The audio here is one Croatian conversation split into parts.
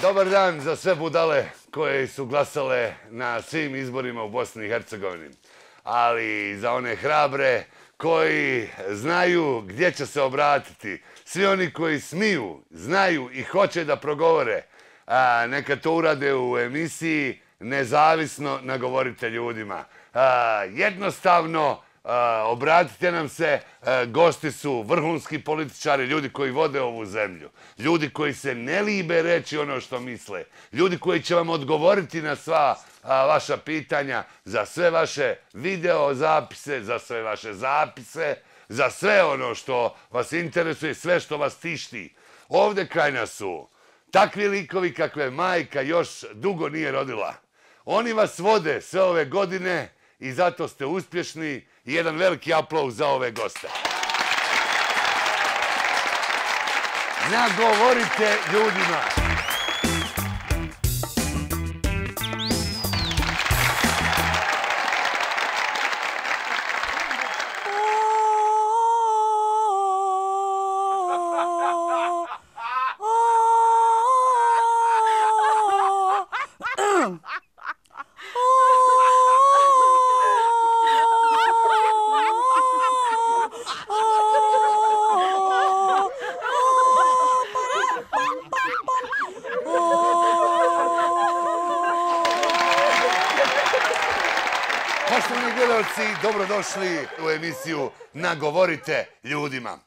Dobar dan za sve budale koje su glasale na svim izborima u Bosni i Hercegovini. Ali i za one hrabre koji znaju gdje će se obratiti. Svi oni koji smiju, znaju i hoće da progovore, neka to urade u emisiji Nezavisno nagovorite ljudima. Jednostavno, obratite nam se, gosti su vrhunski političari, ljudi koji vode ovu zemlju, ljudi koji se ne libe reći ono što misle, ljudi koji će vam odgovoriti na sva vaša pitanja, za sve vaše video zapise, za sve vaše zapise, za sve ono što vas interesuje, sve što vas tišti. Ovdje kraj nas su takvi likovi kakve majka još dugo nije rodila. Oni vas vode sve ove godine i zato ste uspješni i jedan veliki aplauz za ove goste. Nagovorite ljudima. Poštovani gledalci, dobrodošli u emisiju Nagovorite ljudima.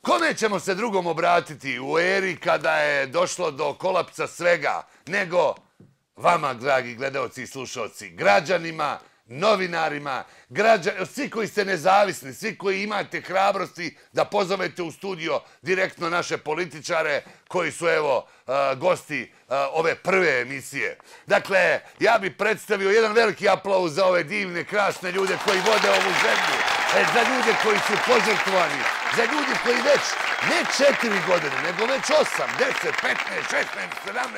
Kome ćemo se drugom obratiti u eri kada je došlo do kolapsa svega, nego vama, dragi gledalci i slušalci, građanima, novinarima, svi koji ste nezavisni, svi koji imate hrabrosti da pozovete u studio direktno naše političare koji su, evo, gosti ove prve emisije. Dakle, ja bih predstavio jedan veliki aplauz za ove divne, krasne ljude koji vode ovu zemlju, za ljude koji su požrtvovani, za ljude koji već ne 4 godine, nego već 8, 10, 15, 16,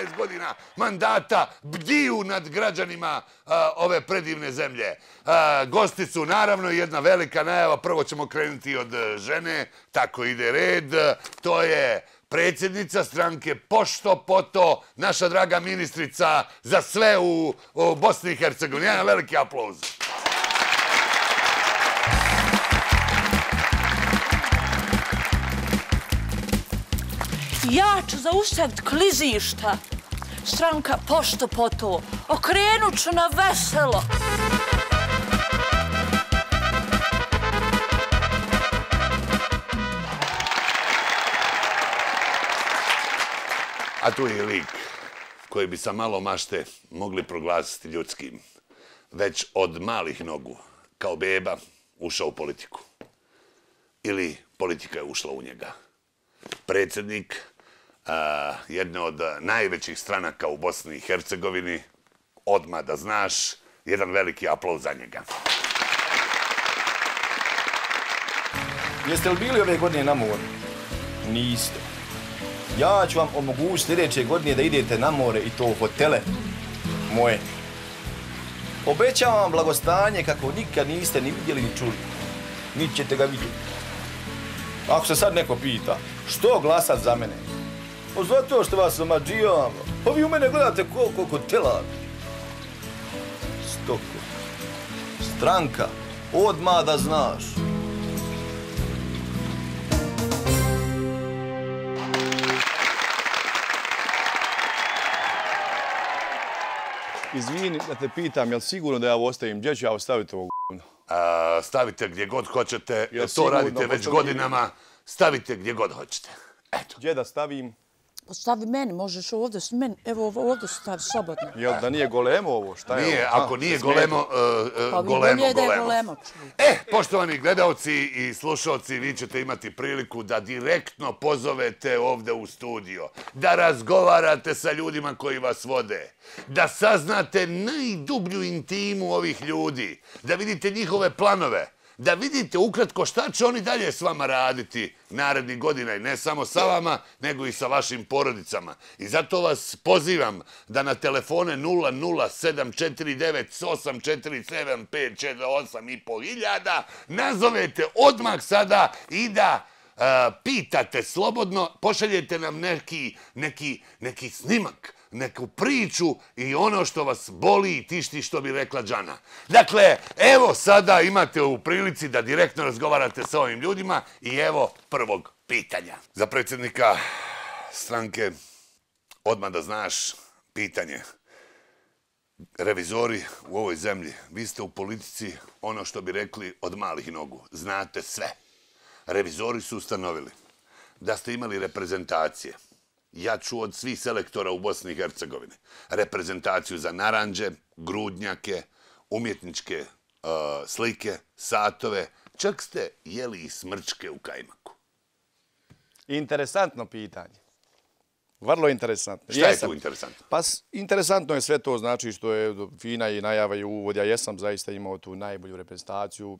17 godina mandata bdiju nad građanima ove predivne zemlje. Gosti su naravno jedna velika najava, prvo ćemo krenuti od žene, tako ide red, to je predsjednica stranke Pošto Poto, naša draga ministrica za sve u Bosni i Hercegovini. Jedan veliki aplauz. Ja ću zaustaviti klizišta. Stranka Pošto Poto. Okrenut ću na veselo. A tu je lik koji bi sa malo mašte mogli proglasiti ljudskim. Već od malih nogu, kao beba, ušao u politiku. Ili politika je ušla u njega. Predsjednik jedne od najvećih stranaka u Bosni i Hercegovini, odmah da znaš, jedan veliki aplauz za njega. Jeste li bili ove godine na moru? Niste. Ja ću vam omogućiti sljedeće godine da idete na more i to u hotele moje. Obećavam vam blagostanje kako nikad niste ni vidjeli ni čuli. Niti ćete ga vidjeti. Ako se sad neko pita, što glasat za mene? Pa zato što vas omađivam. Pa vi u mene gledate koliko hotela. Stoko. Stranka. Odmah da znaš. Izvini da te pitam, jel sigurno da ja ovo ostavim? Gdje ću ja ostaviti ovo g***no? Stavite gdje god hoćete, to radite već godinama, stavite gdje god hoćete. Eto. Gdje da stavim? Stavi meni, možeš ovdje s meni. Evo ovdje stavi slobodno. Jel da nije golemo ovo? Šta je ovo? Nije, ako nije golemo, golemo. Poštovani gledalci i slušalci, vi ćete imati priliku da direktno pozovete ovdje u studio, da razgovarate sa ljudima koji vas vode, da saznate najdublju intimu ovih ljudi, da vidite njihove planove, da vidite ukratko šta će oni dalje s vama raditi narednih godina i ne samo sa vama, nego i sa vašim porodicama. I zato vas pozivam da na telefone 00749847548.500 nazovete odmah sada i da pitate slobodno, pošaljete nam neki snimak, neku priču i ono što vas boli i tišti, što bi rekla Džana. Dakle, evo sada imate u prilici da direktno razgovarate sa ovim ljudima i evo prvog pitanja. Za predsjednika stranke, odmah da znaš, pitanje. Revizori u ovoj zemlji, vi ste u politici, ono što bi rekli, od malih nogu. Znate sve. Revizori su ustanovili da ste imali reprezentacije. Ja ću od svih selektora u Bosni i Hercegovini. Reprezentaciju za naranđe, grudnjake, umjetničke slike, satove. Čak ste jeli i smrčke u kajmaku. Interesantno pitanje. Vrlo interesantno. Šta je tu interesantno? Pa interesantno je sve to, znači što je fina i najava i uvod. Ja jesam zaista imao tu najbolju reprezentaciju.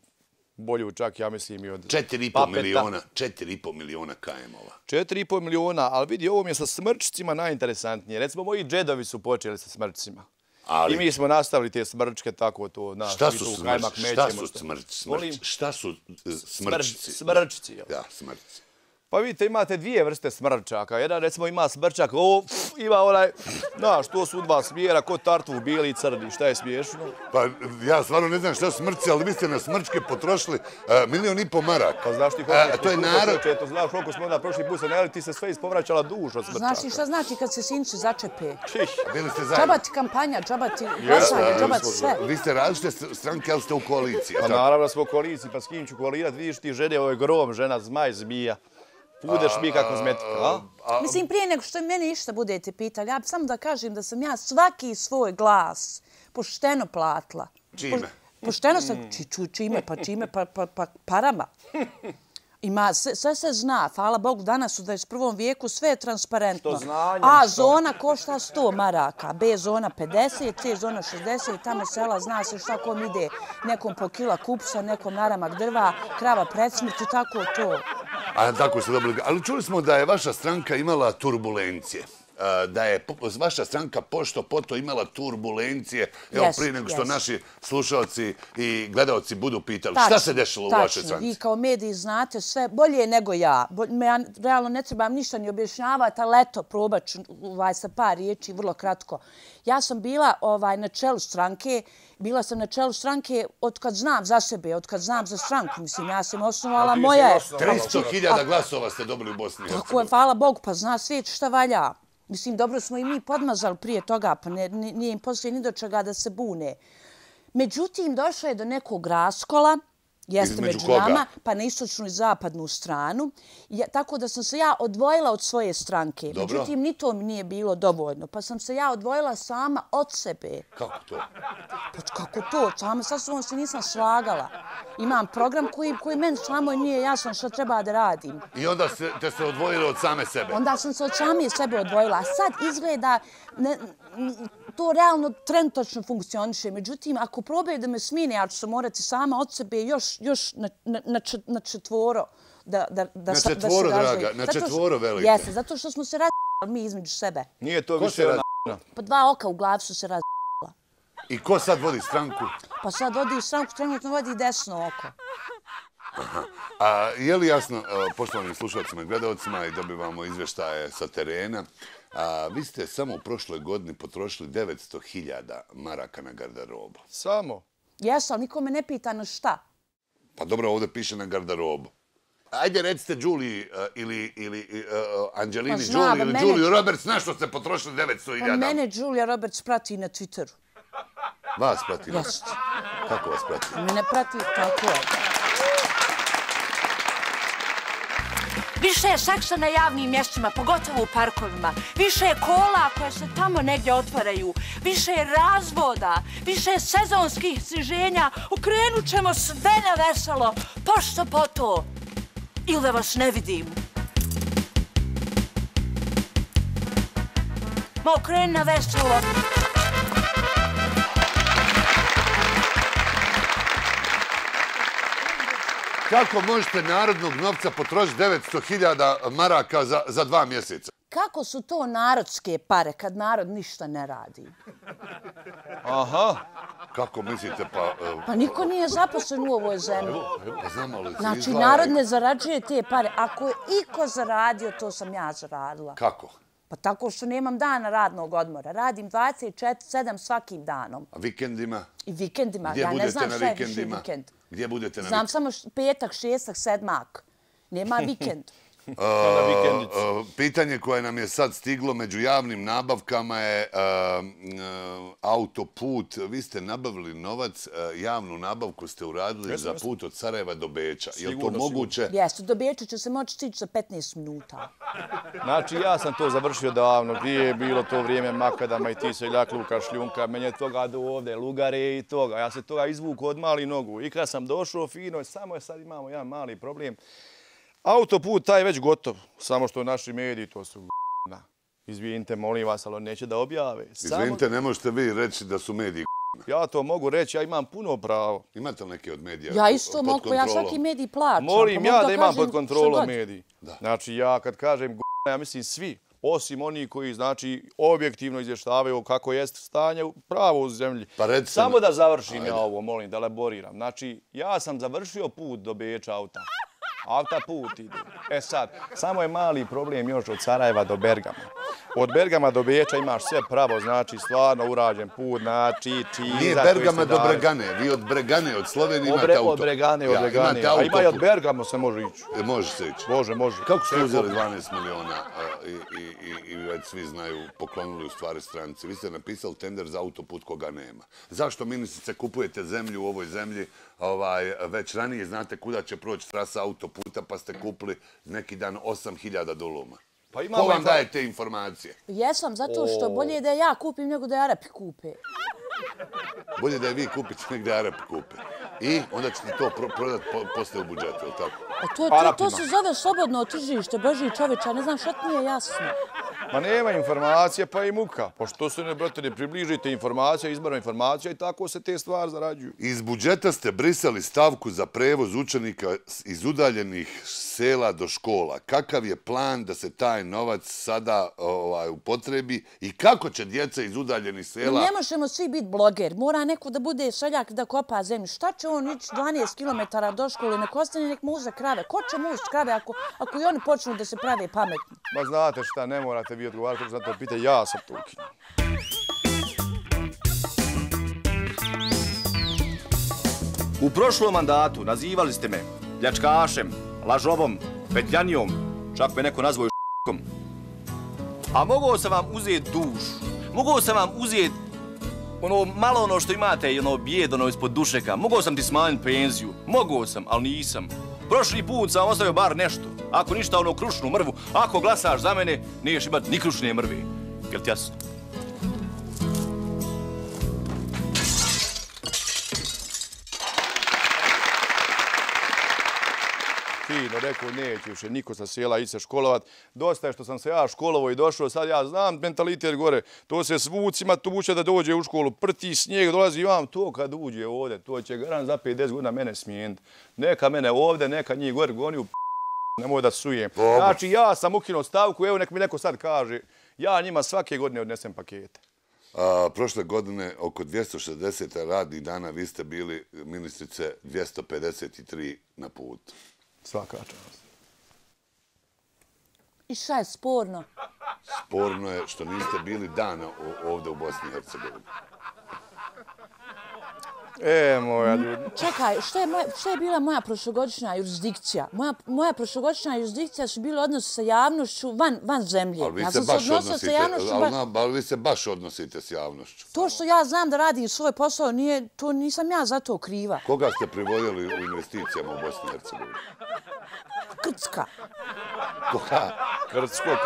Bolju čak, ja mislim, i od 4,5 miliona KM-ova. 4,5 miliona, ali vidi, ovo mi je sa smrčcima najinteresantnije. Recimo, moji džedovi su počeli sa smrčcima. I mi smo nastavili te smrčke, tako to. Šta su smrčci? Smrčci, jel? Da, smrčci. Pa vidite, imate dvije vrste smrčaka. Jedan, recimo, ima smrčak, ima onaj, znaš, to su dva smjera, ko tartvu, bijeli i crni. Šta je smiješno? Pa ja stvarno ne znam šta su smrčci, ali vi ste na smrčke potrošili 1,5 miliona maraka. Pa znaš ti koliko smo onda prošli put se najeli, ti se sve ispovraćala duš od smrčaka. Znaš ti šta znači kad se sinci začepe? Bili ste zajedno. Džaba ti kampanja, džaba ti glasanje, džaba ti sve. Vi ste različite stranke, ali ste u koaliciji. Pa naravno da smo u koaliciji, pa s kim ću koalirati, vidiš ti žene, ovo je grom, žena, zmaj, zmija. Pudeš mi kako kozmetika, a? Mislim, prije nego što mene išta budete pitali, ja samo da kažem da sam ja svaki svoj glas pošteno platila. Čime? Pošteno sam, čime, pa parama. Ima, sve se zna, hvala Bogu, danas u 21. vijeku sve je transparentno. A zona košta 100 maraka, B zona 50, C zona 60 i tamo sela zna se šta kom ide. Nekom po kila kupsa, nekom naramak drva, krava pred smrti, tako to. A tako ste dobili. Ali čuli smo da je vaša stranka imala turbulencije. Da je vaša stranka pošto poto imala turbulencije. Evo prije nego što naši slušalci i gledalci budu pitali. Šta se dešalo u vašoj stranci? Vi kao mediji znate sve bolje nego ja. Ja realno ne trebam ništa ni objašnjavati, ali eto, probat ću sa par riječi, vrlo kratko. Ja sam bila na čelu stranke. Bila sam na čelu stranke od kad znam za sebe, od kad znam za stranku. Mislim, ja sam osnovala moja... 300.000 glasova ste dobili u Bosni i Hercegovini. Tako je, hvala Bogu, pa zna svijet šta valja. Mislim, dobro smo i mi podmazali prije toga, pa nije im poslije ni do čega da se bune. Međutim, došlo je do nekog raskola, jeste među nama, pa na istočnu i zapadnu stranu. Tako da sam se ja odvojila od svoje stranke. Međutim, ni to mi nije bilo dovoljno. Pa sam se ja odvojila sama od sebe. Kako to? Pa kako to? Sama sa sobom se nisam slagala. Imam program koji meni samo nije jasno što treba da radim. I onda ste se odvojili od same sebe? Onda sam se od same sebe odvojila. A sad izgleda... To realno trenutačno funkcioniše. Međutim, ako probaju da me smine, ja ću se morati sama od sebe još na četvoro da se razvije. Na četvoro, draga, na četvoro velike. Jeste, zato što smo se razvijali mi između sebe. Nije to više razvijala. Pa 2 oka u glavi su se razvijala. I ko sad vodi stranku? Pa sad vodi stranku, trenutno vodi desno oko. A je li jasno, poštovanim slušalcima i gledalcima, i dobivamo izveštaje sa terena, vi ste samo u prošloj godini potrošili 900.000 maraka na garderobu. Samo? Jesu, ali niko me ne pita na šta. Pa dobro, ovdje piše na garderobu. Ajde, recite Julie ili Angelini Jolie ili Julia Roberts, na što ste potrošili 900.000? Pa mene Julia Roberts prati na Twitteru. Vas prati? Jeste. Kako vas prati? Mene prati, tako je. Više je seksa na javnim mjestima, pogotovo u parkovima. Više je kola koje se tamo negdje otvaraju. Više je razvoda. Više je sezonskih sniženja. Okrenut ćemo sve na veselo. Pošto poto. Ili da vas ne vidim. Ma okreni na veselo. Kako možete narodnog novca potrošiti 900.000 maraka za 2 mjeseca? Kako su to narodske pare kad narod ništa ne radi? Aha. Kako mislite, pa... Pa niko nije zaposlen u ovoj zemlji. Pa znam, ali se Znači, izdvaja. narod ne zarađuje te pare. Ako je iko zaradio, to sam ja zaradila. Kako? Pa tako što nemam dana radnog odmora. Radim 24/7 svakim danom. A vikendima? I vikendima. Gdje Ja ne budete znam na šta je više vikendima? vikend. Gdje budete na Znam samo petak, šestak, sedmak. Nema vikend. Pitanje koje nam je sad stiglo među javnim nabavkama je autoput. Vi ste nabavili novac, javnu nabavku ste uradili za put od Sarajeva do Beča. Je li to moguće? Jeste, do Beča će se moći stići za 15 minuta. Znači, ja sam to završio davno. Prije je bilo to vrijeme makadama i ti seljak Luka Šljunka. Meni je toga do ovde, lugare i toga. Ja se toga izvuku od mali nogu. I kad sam došao fino, samo je sad imamo jedan mali problem. Autoput taj je već gotov. Samo što naši mediji, to su izvinite, molim vas, ali neće da objave. Izvinite, ne možete vi reći da su mediji. Ja to mogu reći, ja imam puno pravo. Imate li neke od medija? Ja isto mogu, ja svaki medij plaćam. Molim ja da imam pod kontrolom mediji. Znači ja kad kažem ja mislim svi, osim oni koji znači objektivno izvještavaju kako jest stanje pravo u zemlji. Samo da završim ja ovo, molim, da elaboriram. Znači ja sam završio put do Beča auta. Auta put ide. E sad, samo je mali problem još od Sarajeva do Bergama. Od Bergama do Beča imaš sve pravo, znači stvarno urađen put, znači čiza. Nije Bergama do Bregane, vi od Bregane, od Slovenije imate auto. Od Bregane. A ima i od Bergamo se može ići. Može se ići. Može. Kako ste uzeli 12 miliona i već svi znaju, poklonili u stvari stranci? Vi ste napisali tender za autoput koga nema. Zašto, ministrice, kupujete zemlju u ovoj zemlji? Već ranije znate kuda će proći trasa autoputa, pa ste kupili neki dan 8.000 duluma. Ko vam daje te informacije? Jesam, zato što bolje je da ja kupim nego da je Arapi kupe. Bolje da je vi kupite nego da je Arapi kupe. I onda ćete to prodati posle u budžetu, je li tako? To se zove slobodno tržište, Boži čoveče, ne znam što ti nije jasno. Ma nema informacije, pa i muka. Pošto se ne približite informacija, izbora informacija i tako se te stvari zarađuju. Iz budžeta ste brisali stavku za prevoz učenika iz udaljenih sela do škola. Kakav je plan da se taj novac sada upotrebi i kako će djeca iz udaljenih sela... Ne možemo svi biti bloger. Mora neko da bude seljak da kopa zemlju. Šta će on ići 12 km do škole? Nek ostane, nek muze krave. Ko će muze krave ako i oni počnu da se prave pametni? Ma znate šta, ne morate vi odgovarati za to pitanje, ja sam to ukinuo. U prošlom mandatu nazivali ste me pljačkašem, lažovom, petljanijom, čak me neko nazvao š**kom. A mogao sam vam uzeti dušu, mogao sam vam uzeti malo ono što imate i bijed ispod dušeka, mogao sam ti smanjiti penziju, mogao sam, ali nisam. Prošli put sam ostavio bar nešto. Ako ništa, krušnu mrvu. Ako glasaš za mene, niješ imati ni krušne mrve. Jel ti jasno? Fino, rekao, neće više niko sa sela ići se školovat. Dosta je što sam se ja školovao i došao, sad ja znam mentalitet gore. To se s vucima tuče da dođe u školu, prti snijeg, dolazi vam to kad uđe ovdje. To će garant za 5-10 godina mene smijeniti. Neka mene ovdje, neka njih gore goni u nemoj da sujem. Znači ja sam ukinuo stavku, evo nek mi neko sad kaže, ja njima svake godine odnesem pakete. Prošle godine oko 260 radnih dana vi ste bili, ministrice, 253 na putu. Svaka čast. I šta je sporno? Sporno je što niste bili dana ovdje u Bosni i Hercegovini. Moja ljudi. Čekaj, šta je bila moja prošlogodišnja jurisdikcija? Moja prošlogodišnja jurisdikcija su bile odnosi sa javnošću van zemlje. Ali vi se baš odnosite s javnošću. To što ja znam da radim svoj posao, to nisam ja za to kriva. Koga ste privoljeli u investicijama u Bosni i Hercegovini? Krcka. Koga? Krcko.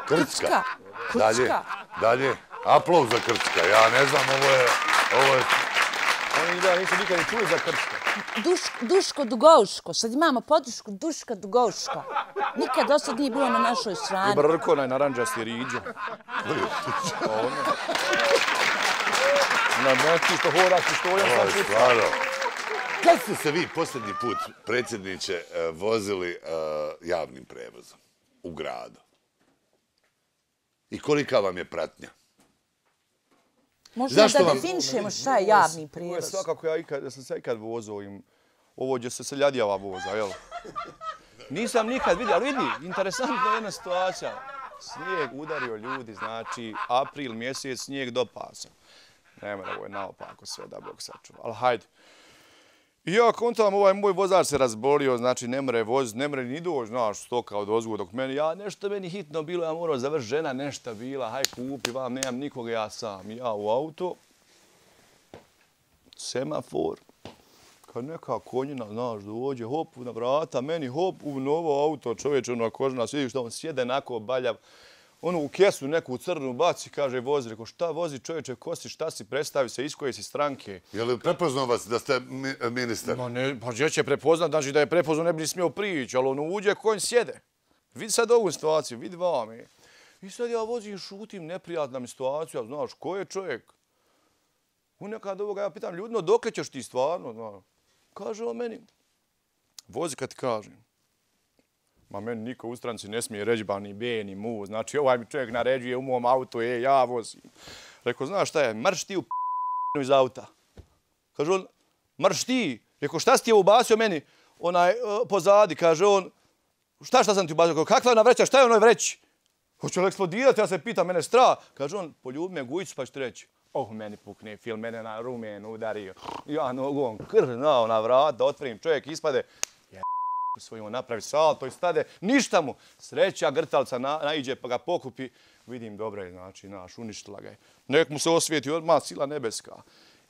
Krcka. Dalje. Aplauz za Krcka. Ja ne znam, ovo je... Oni nisu nikad ni čuli za Krcko. Duško Dugovško. Sad imamo podršku Duška Dugovška. Nikad do sad nije bilo na našoj strani. I Brko, naranđasti riđo. Znači što hodaš i što ja sam pucao. Kad ste se vi posljednji put, predsjedniče, vozili javnim prevozom u gradu? I kolika vam je pratnja? Možda da definišemo šta je javni prijevoz. Ovo je svakako da sam se ikad vozao ovo gdje se seljadijava voza, jel? Nisam nikad vidio, ali vidi, interesantna je jedna situacija. Snijeg udario ljudi, znači april mjesec, snijeg do pasa. Nema da ovo je naopako sve da Bog sačuva, ali hajde. I ja kontam, ovaj moj vozač se razbolio, znači ne more voziti, ne more ni doći, znaš, stoka od ozgu dok nešto meni hitno bilo, ja morao završiti, žena nešto bila, haj kupi vam, nemam nikoga, ja sam. Ja u auto, semafor, kad neka konjina, znaš, dođe, hop, na vrata, meni hop, u novo auto, čovječe, ono kožna, vidiš što on sjede nako baljav, ono u kesu neku crnu baci, kaže vozi, reko šta vozi čovječe, ko si, šta si, predstavi se, iz koje si stranke. Je li prepoznao vas da ste ministar? Ma ne, pa gdje će prepoznat, znači da je prepoznao ne bi ni smio prići, ali ono uđe konj sjede. Vidi sad ovu situaciju, vidi vam je. I sad ja vozim, šutim, neprijatna mi situacija, znaš, ko je čovjek? U nekad ovoga ja pitam ljudno, dokle ćeš ti stvarno, znaš? Kaže on meni, vozi kad ti kažem. Ma meni niko u stranci ne smije reći ba ni be, ni mu. Znači ovaj mi čovjek naređuje u mom autu, ja vozim. Rekao, znaš šta je, marš ti u iz auta. Kaže on, marš ti. Rekao, šta si ti je ubacio meni pozadi? Kaže on, šta sam ti ubacio? Kakva je ona vreća, šta je onoj vreći? Hoće li eksplodirati, ja se pitam, mene strah. Kaže on, poljubi me gujicu pa ću ti reći. Meni pukne film, mene na rumen udario. Ja nogom krnao na vrata, otvorim, čovjek ispade. Svojimo napravi salto i stade, ništa mu. Sreća, grtalca naiđe pa ga pokupi. Vidim, dobro je, znači, naš, uništila ga je. Nek mu se osvijeti odmah sila nebeska.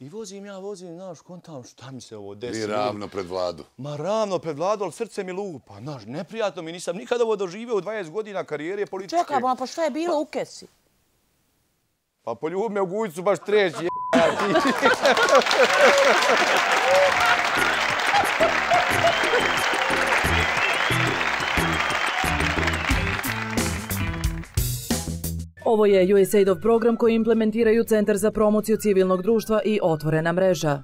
I vozim, znaš, kontam, šta mi se ovo desi? I ravno pred vladu. Ma ravno pred vladu, ali srce mi lupa. Znaš, neprijatno mi, nisam nikada ovo doživio u 20 godina karijere političke. Čekaj, pa šta je bilo u kesi? Pa poljubi me u gujicu baš treći, Ovo je USAID-ov program koji implementiraju Centar za promociju civilnog društva i Otvorena mreža.